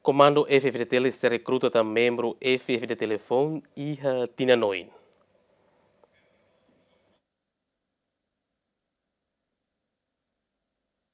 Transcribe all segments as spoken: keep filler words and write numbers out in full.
Komandu F-FDTL sei rekruta tan membru F-FDTL foun iha tinan oin.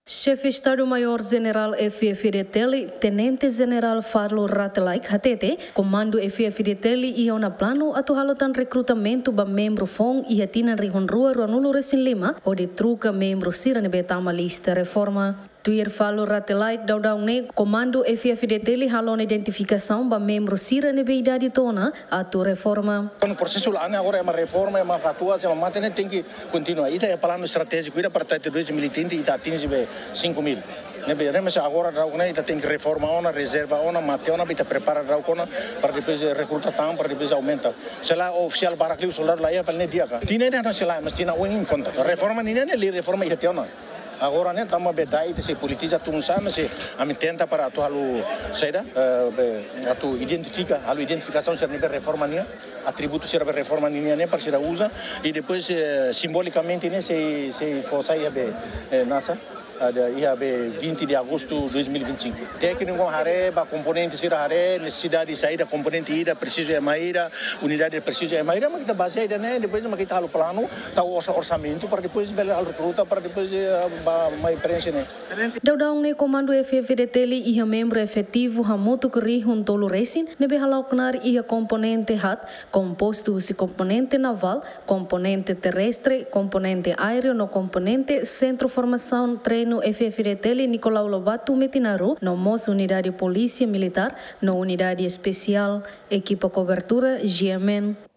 Xefe Estadu-Maiór Jenerál F-FDTL, Tenente Jenerál Farlu Rate Laek hatete, Komandu F-FDTL iha ona planu atu halo tan rekrutamentu ba membru foun iha tinan rihun rua ruanulu resin lima, hodi troka membru sira ne'ebé tama lista reforma. Tuir Farlu Rate Laek, daudaun ne'e Komandu F-FDTL halo ona identifikasaun ba membru sira ne'ebé idade to'o ona atu reforma. Kuandu prosesu la'o ne'e agora ema reforma, ema katuas, ema mate ne'e tenke kontinua. Ita iha planu estratéjiku ida para tinan dois mil e trinta ita atinje be cinco mil. Ne'ebé, ne'e mas agora daudaun ne'e ita tenke reforma ona, rezerva ona, mate ona, ita prepara daudaun ona, para depois rekruta tan, para depois aumenta. Se lae ofisiál barak liu, soldadu la iha, fali ne'e di'ak ka. Tinan ne'e no se lae, mas tinan oin konta. Reforma ninian ne'e, lei reforma iha tiha ona. Agora ne'e tanba be dai ita sei politiza tun sá, mas sei ami tenta para atu halo saida, eh, be, atu identifika, halo identifikasaun sira ne'ebé reforma nian, atributu sira be reforma nian ne'e para sira uza, i depois, eh, simbolikamente ne'e sei, sei fó sai iha be, eh, nasa, ada iha be vinte de agosto dois mil e vinte e cinco. Tékniku haree, ba komponente sira haree, nesesidade saida, komponente ida presiza ema ida, unidade presiza ema ida, mak ita bazeia ida-ne'e, depois mak ita halo planu, tau orsa-, orsamentu, para depois bele halo rekruta, para depois, eh, ba mai prenxe ne'e. Daudaun ne'e Komandu F-FDTL iha membru efetivu hamutuk rihun tolu resin, ne'ebé hala'o knaar iha komponente haat, kompostu husi komponente navál, komponente terrestre, komponente aéreu no komponente Sentru Formasaun Treinu F-FDTL Nicolau Lobato Metinaro, no mós unidade polísia militár, no unidade espesiál, ekipa kobertura, G M N.